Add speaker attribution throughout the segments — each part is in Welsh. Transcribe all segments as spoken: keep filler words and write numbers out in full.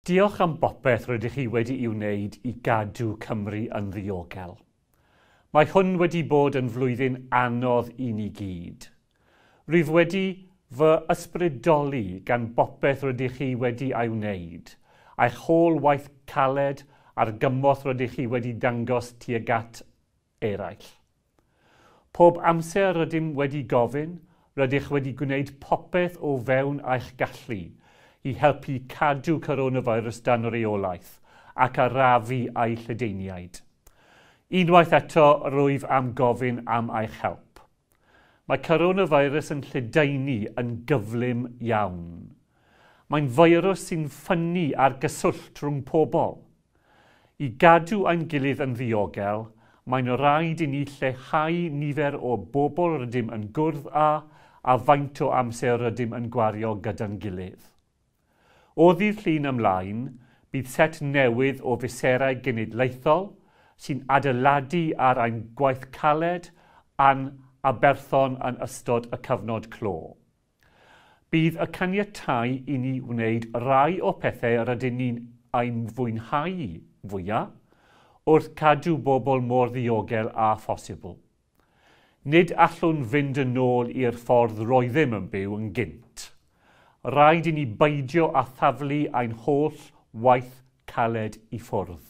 Speaker 1: Diolch am bopeth rydych chi wedi'i wneud i gadw Cymru yn ddiogel. Mae hwn wedi bod yn flwyddyn anodd i ni gyd. Rwyf wedi fy ysbrydoli gan bopeth rydych chi wedi ei wneud, a'ch holl waith caled a'r gymorth rydych chi wedi dangos tuag at eraill. Pob amser rydym wedi gofyn, rydych wedi gwneud popeth o fewn eich gallu i helpu cadw coronavirus dan reolaeth ac arafu ei lledaeniad. Unwaith eto, rwyf am gofyn am eich help. Mae coronavirus yn lledaenu yn gyflym iawn. Mae'n feirws sy'n ffynnu ar gyswllt rhwng pobl. I gadw ein gilydd yn ddiogel, mae'n rhaid i ni lleihau nifer o bobl rydym yn gwrdd â a faint o amser rydym yn gwario gyda'n gilydd. O ddydd Llun ymlaen, bydd set newydd o fesurau genedlaethol sy'n adeiladu ar ein gwaith caled a'n aberthon yn ystod y cyfnod clo. Bydd y caniatáu i ni wneud rai o pethau rydyn ni'n ein fwynhau fwyaf wrth cadw bobl mor ddiogel â phosibl. Nid allwn fynd yn ôl i'r ffordd roeddem yn byw yn gynt. Rhaid i ni beidio â thaflu ein holl waith caled i ffwrdd.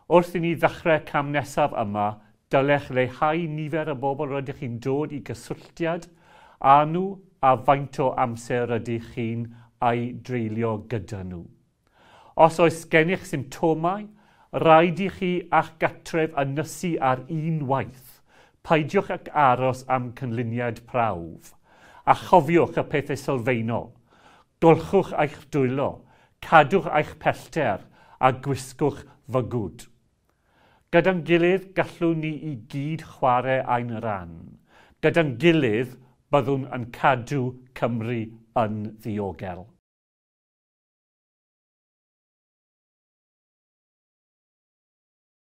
Speaker 1: Wrth i ni ddechrau cam nesaf yma, dylech leihau nifer y bobl rydych chi'n dod i gysylltiad â nhw a faint o amser rydych chi'n ei dreulio gyda nhw. Os oes gennych symptomau, rhaid i chi a'ch gartref ynysu ar un waith. Peidiwch ag aros am canlyniad prawf. A chofiwch y pethau sylfaenol. Golchwch eich dwylo, cadwch eich pellter a gwisgwch fygwd. Gyda'n gilydd gallwn ni i gyd chwarae ein rhan. Gyda'n gilydd byddwn yn cadw Cymru yn ddiogel.